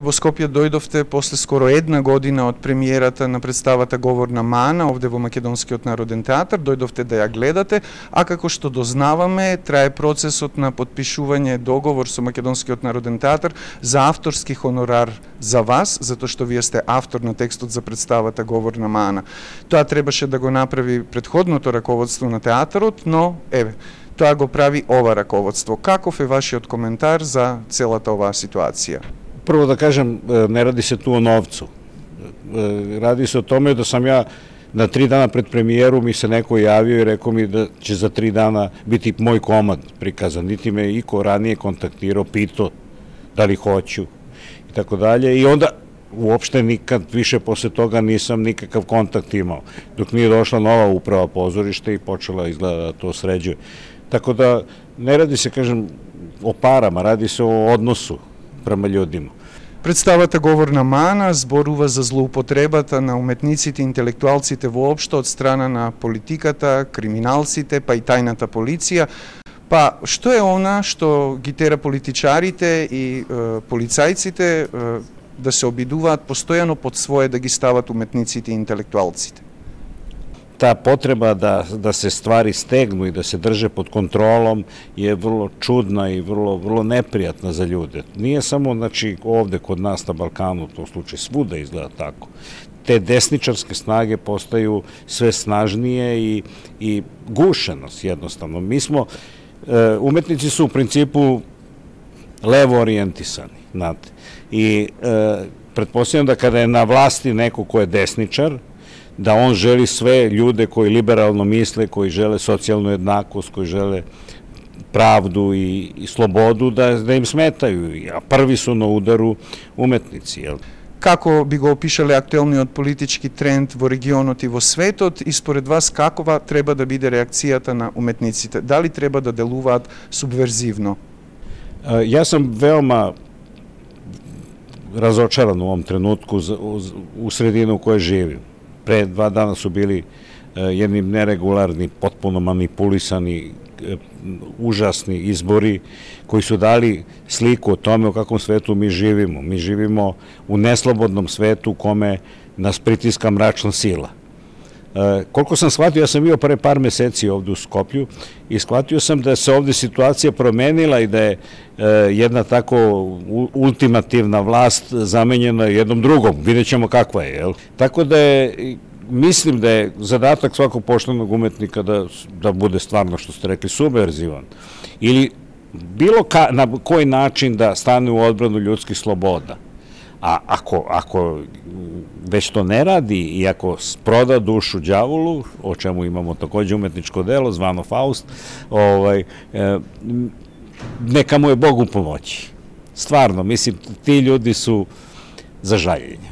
Во Скопје дојдовте после скоро една година од премиерата на представата Говорна мана овде во Македонскиот народен театар, дојдовте да ја гледате, а како што дознаваме, трае процесот на потпишување договор со Македонскиот народен театар за авторски хонорар за вас, затоа што вие сте автор на текстот за представата Говорна мана. Тоа требаше да го направи претходното раководство на театарот, но тоа го прави ова раководство. Каков е вашиот коментар за целата оваа ситуација? Прво да кажем, не ради се ту о новцу. Ради се о томе да сам ја на 3 дана пред премиеру ми се некој јавио и рекол ми да ќе за 3 дана бити мој комад приказан. Нити ме ико ранije контактирao, питao дали hoću и тако далje. И onda uopšte nikad više posle toga nisam nikakav kontakt imao. Dok nije došla nova uprava pozorišta i počela izgleda da to sređuje. Tako da ne radi se, kažem, o parama, radi se o odnosu према људима. Представата Говорна мана зборува за злоупотребата на уметниците и интелектуалците воопшто од страна на политиката, криминалците, па и тајната полиција. Па, што е она што ги тера политичарите и полицајците да се обидуваат постојано под своје да ги стават уметниците и интелектуалците? Ta potreba da se stvari stegnu i da se drže pod kontrolom je vrlo čudna i vrlo neprijatna za ljude. Nije samo, znači, ovde kod nas na Balkanu, to slučaj svuda izgleda tako. Te desničarske snage postaju sve snažnije i gušenost jednostavno. Mi smo, umetnici su u principu levo orijentisani, znate. I pretpostavljam da kada je na vlasti neko ko je desničar, da on želi sve ljude koji liberalno misle, koji žele socijalnu jednakost, koji žele pravdu i slobodu, da im smetaju, a prvi su na udaru umetnici. Како би го опишале актуелниот политички тренд во регионот и во светот и според вас какова треба да биде реакцијата на уметниците? Дали треба да делуваат субверзивно? Ja sam veoma razočaran u ovom trenutku u sredinu u kojoj živim. Pre 2 dana su bili jedni neregularni, potpuno manipulisani, užasni izbori koji su dali sliku o tome u kakvom svetu mi živimo. Mi živimo u neslobodnom svetu u kome nas pritiska mračna sila. Koliko sam shvatio, ja sam bio pre par meseci ovde u Skoplju i shvatio sam da se ovde situacija promenila i da je jedna tako ultimativna vlast zamenjena jednom drugom. Vidjet ćemo kakva je. Tako da je, mislim da je zadatak svakog poštenog umetnika da bude stvarno, što ste rekli, subverzivan. Ili bilo na koji način da stane u odbranu ljudskih sloboda. A ako već to ne radi i ako proda dušu đavolu, o čemu imamo takođe umetničko delo, zvano Faust, neka mu je Bog u pomoći. Stvarno, mislim, ti ljudi su za žaljenje.